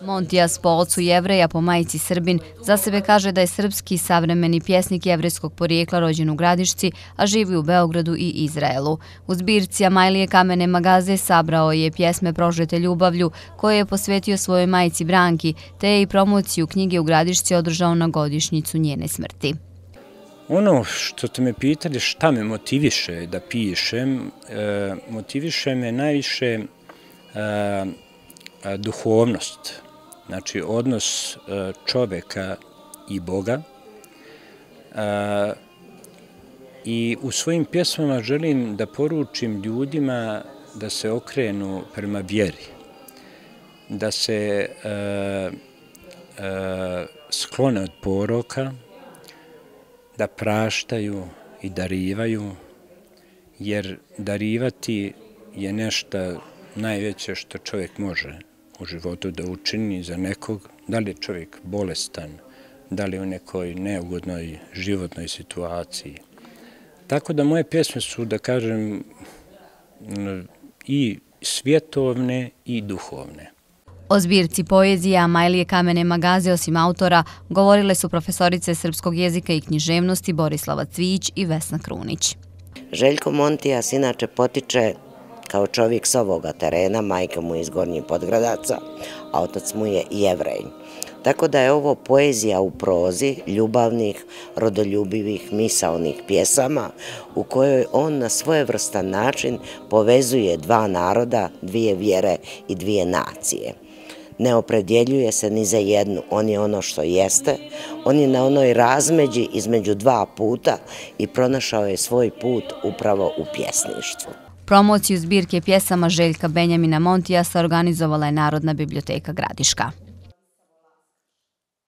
Montijas po ocu Jevreja, po majici Srbin, za sebe kaže da je srpski savremeni pjesnik jevrejskog porijekla rođen u Gradišci, a živi u Beogradu i Izraelu. U zbirci Amajlije Kamene Magaze sabrao je pjesme prožete ljubavlju koje je posvetio svojoj majici Branki, te je i promociju knjige u Gradišci održao na godišnjicu njene smrti. Ono što ste me pitali šta me motiviše da pišem, motiviše me najviše duhovnost, znači odnos čoveka i Boga. I u svojim pjesmama želim da poručim ljudima da se okrenu prema vjeri, da se sklone od poroka, da praštaju i darivaju, jer darivati je nešto najveće što čovjek može u životu da učini za nekog, da li je čovjek bolestan, da li je u nekoj neugodnoj životnoj situaciji. Tako da moje pjesme su, da kažem, i svjetovne i duhovne. O zbirci poezije Amajlije Kamene Magaze osim autora govorile su profesorice srpskog jezika i književnosti Borislava Cvijić i Vesna Krunić. Željko Montijas inače potiče kao čovjek s ovoga terena, majka mu je iz Gornjih Podgradaca, a otac mu je Jevrej. Tako da je ovo poezija u prozi ljubavnih, rodoljubivih, misaonih pjesama u kojoj on na svojevrstan način povezuje dva naroda, dvije vjere i dvije nacije. Ne opredjeljuje se ni za jednu, on je ono što jeste, on je na onoj razmeđi između dva puta i pronašao je svoj put upravo u pjesništvu. Promociju zbirke pjesama Željka Benjamina Montijasa organizovala je Narodna biblioteka Gradiška.